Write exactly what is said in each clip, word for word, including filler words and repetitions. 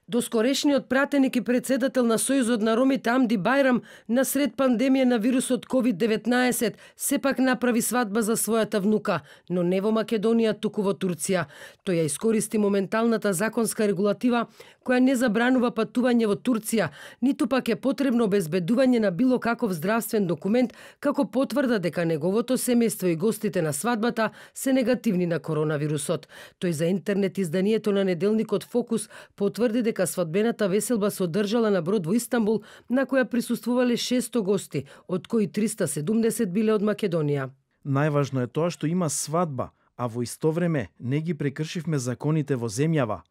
Доскорешниот пратеник и председател на Сојузот на ромите Амди Бајрам насред пандемија на вирусот ковид деветнаесет сепак направи свадба за својата внука, но не во Македонија, туку во Турција. Тој ја искористи моменталната законска регулатива која не забранува патување во Турција, ниту пак е потребно обезбедување на било каков здравствен документ како потврда дека неговото семејство и гостите на свадбата се негативни на коронавирусот. Тој за интернет изданието на неделникот Фокус потврди дека свадбената веселба се одржала на брод во Истанбул, на која присуствувале шесто гости, од кои триста и седумдесет биле од Македонија. Најважно е тоа што има свадба, а во исто време не ги прекршивме законите во земјава.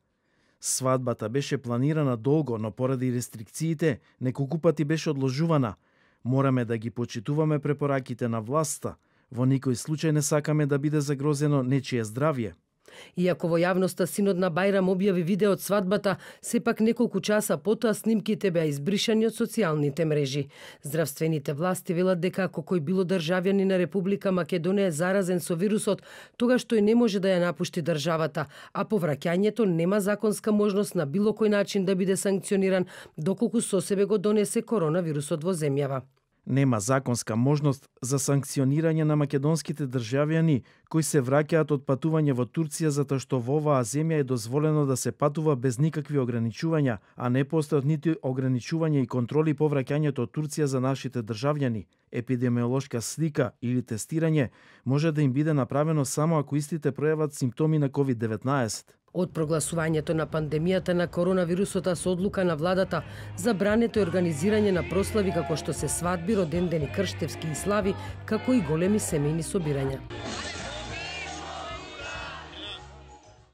Свадбата беше планирана долго, но поради рестрикциите неколку пати беше одложувана. Мораме да ги почитуваме препораките на власта. Во никој случај не сакаме да биде загрозено нечие здравје. Иако во јавноста синот на Бајрам објави видео од свадбата, сепак неколку часа потоа снимките беа избришани од социјалните мрежи. Здравствените власти велат дека ако кој било државјанин на Република Македонија е заразен со вирусот, тогаш тој не може да ја напушти државата, а повраќањето нема законска можност на било кој начин да биде санкциониран доколку со себе го донесе коронавирусот во земјава. Нема законска можност за санкционирање на македонските државјани кои се враќаат од патување во Турција затоа што во оваа земја е дозволено да се патува без никакви ограничувања, а не постојат нити ограничувања и контроли по враќањето од Турција за нашите државјани. Епидемиолошка слика или тестирање може да им биде направено само ако истите пројават симптоми на ковид деветнаесет. Од прогласувањето на пандемијата на коронавирусот со одлука на владата, забрането е организирање на прослави како што се свадби, родендени, крштевски и слави, како и големи семејни собирања.